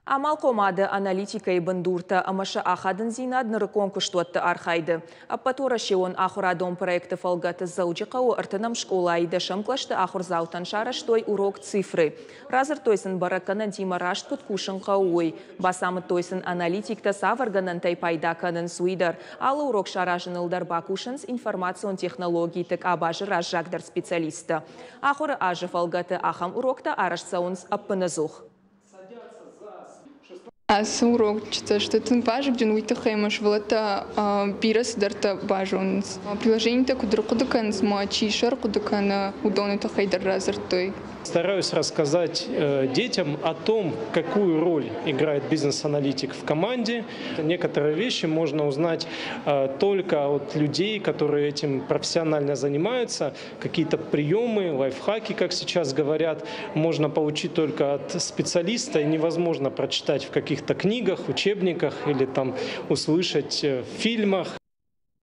Амалхъомады аналитикӕйы бындуртӕ ӕмӕ сӕ ахадындзинад нырыккон куыстуӕтты архайды. Ӕппӕтуӕрӕсеон ахуырадон проекты фӕлгӕты Дзӕуджыхъӕуы ӕртынӕм скъолайы дӕсӕм кълӕсты ахуырдзаутӕн сарӕзтой урок цифры. Радзырдтой сын бӕрӕггӕнӕнтимӕ раст куыд кусын хъӕуы, уый. Бацамыдтой сын аналитиктӕ цавӕр гӕнӕнтӕй пайда кӕнынц, уый дӕр. Алы урок саразыныл дӕр бакусынц информацион технологиты къабазы раззагдӕр специалисттӕ. Ахуыры азы фӕлгӕты ахӕм уроктӕ арӕзт цӕуынц ӕппынӕдзух. Ацы урочытӕ сты тынг вазыгджын, уый тыххӕй ӕмӕ сывӕллӕттӕ бирӕ цыдӕртӕ базонынц. Приложенитӕ куыд ӕрхъуыды кӕнынц ӕмӕ чи сӕ ӕрхъуыды кӕны, уыдоны тыххӕй дӕр радзырдтой. Стараюсь рассказать детям о том, какую роль играет бизнес-аналитик в команде. Некоторые вещи можно узнать только от людей, которые этим профессионально занимаются. Какие-то приемы, лайфхаки, как сейчас говорят, можно получить только от специалиста и невозможно прочитать в каких-то книгах, учебниках или там услышать в фильмах.